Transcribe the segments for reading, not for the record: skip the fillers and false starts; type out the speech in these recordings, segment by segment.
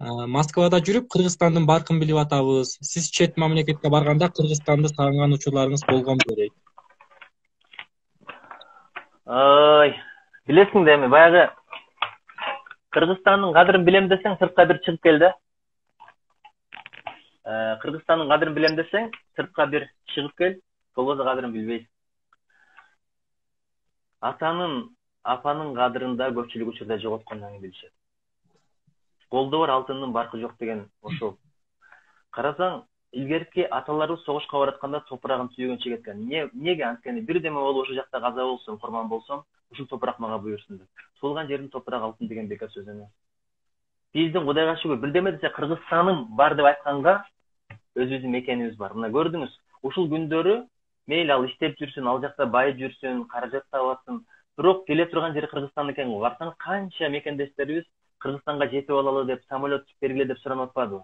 Москвада жүрүп, Кыргызстандын баркын билип атабыз. Сиз чет мамлекетке барганда Кыргызстанды сагынган учурларыңыз болгонбу дейт. Ой, билесиң да эми баягы Кыргызстандын кадырын билем десең, сыртка бир чыгып кел да. Кыргызстандын кадырын билем десең, сыртка бир чыгып кел, болбосо кадырын билбейсиң. Атанын, апанын кадырын да көпчүлүк учурда жоготкондон кийин билишет. Колдо бар алтындын баркы жок деген ошол. Карасаң, илгерки аталарыбыз согушка баратканда топурагын түйгөнчө кеткен. Неге? Анткени бирдеме болуп ошол жакта каза болсом, курман болсом, ушул топурак мага буйрсун деп. Туулган жердин топурагы алтын деген бекер сөз эмес. Биздин Кудайга шүгүр, бирдеме десе Кыргызстаным бар деп айтканга өзүбүздүн мекенибиз бар. Мына көрдүңүз, ушул күндөрү мейли ал иштеп жүрсүн, ал жакта байып жүрсүн, каражат табасың, бирок келе турган жери Кыргызстан экен. Барсаңыз канча мекендештерибиз Кыргызстанга жетип алалы деп, самолет бергиле деп суранып атпадыбы?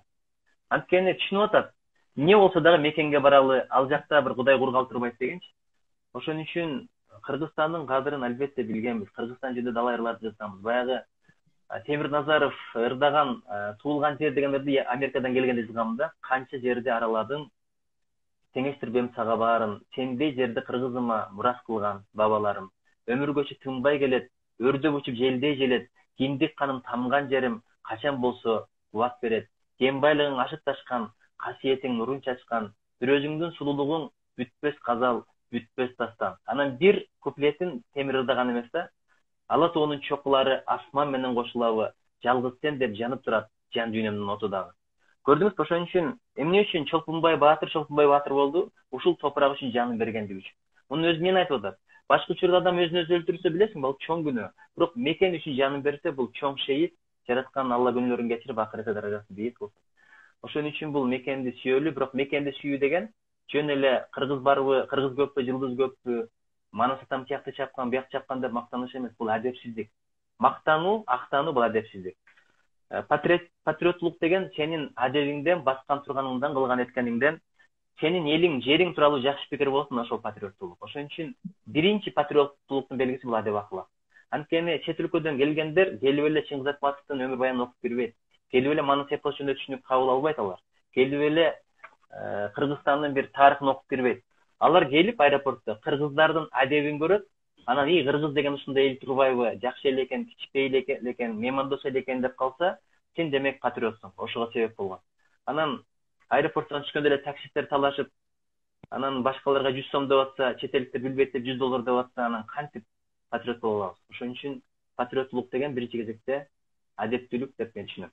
Анткени түшүнүп атат. Не болсо дагы мекенге баралы, ал жакта бир Кудай кургал турбайт дегенчи. Ошон үчүн Кыргызстандын кадырын албетте билгенбиз. Кыргызстан жөнүндө далай ырларды жазганбыз. Баягы Темир Назаров ырдаган туулган жер дегендерди Америкадан келгенде жазганмын да. Канча жерди араладың, теңештирбем сага баарын, сендей жерди кыргызыма мурас кылган бабаларым. Өмүргөчө тынбай келет, өрдөп учуп желдей желет, киндик каным тамган жерим качан болсо убак берет. Кен байлыгың ашып ташкан, касиетиң нурун чачкан, бир өзүңдүн сулуулугуң бүтпөс казал, бүтпөс дастан. Анан бир куплетин Темир ырдаган эмес да. Ала тоонун чокулары асман менен кошулабы, жалгыз сен деп жанып турат жан дүйнөмдүн оту дагы. Көрдүңүзбү, ошон үчүн эмне үчүн Чолпунбай Баатыр болду? Ушул топурак үчүн жанын бергендиги үчүн. Муну өзү эмне айтып атат? Башка учурда адам өзүн өзү өлтүрсө билесиң, бул чоң күнөө. Бирок мекен үчүн жанын берсе, бул чоң шейит, жараткан Алла күнөөлөрүн кечирип, акырет даражасы бийик болсун. Ошон үчүн бул мекенди сүйөлү, бирок мекенди сүйүү деген жөн эле кыргыз барбы, кыргыз көппү, жылдыз көппү, манас атам тиякты чапкан, бияк чапкан деп мактаныш эмес, бул адепсиздик. Мактануу, актануу бул адепсиздик. Патриоттулук деген сенин адебиңден, баскан турганыңдан, кылган эткениңден, сенин элиң, жериң тууралуу жакшы пикир болсун, ошол патриоттулук. Ошон үчүн биринчи патриоттулуктун белгиси бул адеп акылак. Анткени чет өлкөдөн келгендер келип эле Чыңгыз Айтматовдун өмүр баянын окуп бербейт. Келип эле Манас эпос жөнүндө түшүнүк кабыл албайт алар. Келип эле Кыргызстандын бир тарыхын окуп бербейт. Алар келип аэропортто кыргыздардын адебин көрөт, анан кыргыз деген ушундай эл турбайбы, жакшы эл экен, кичпей эле экен, меймандос эл экен деп калса, сен демек патриотсуң. Ошого себеп болгон. Анан аэропорттон түшкөндө эле таксисттер талашып, анан башкаларга 100 сом деп атса, чет эликтер билбейт деп $100 деп атса, анан кантип патриот боло алабыз? Ошон үчүн патриоттулук деген биринчи кезекте адептүүлүк деп мен түшүнөм.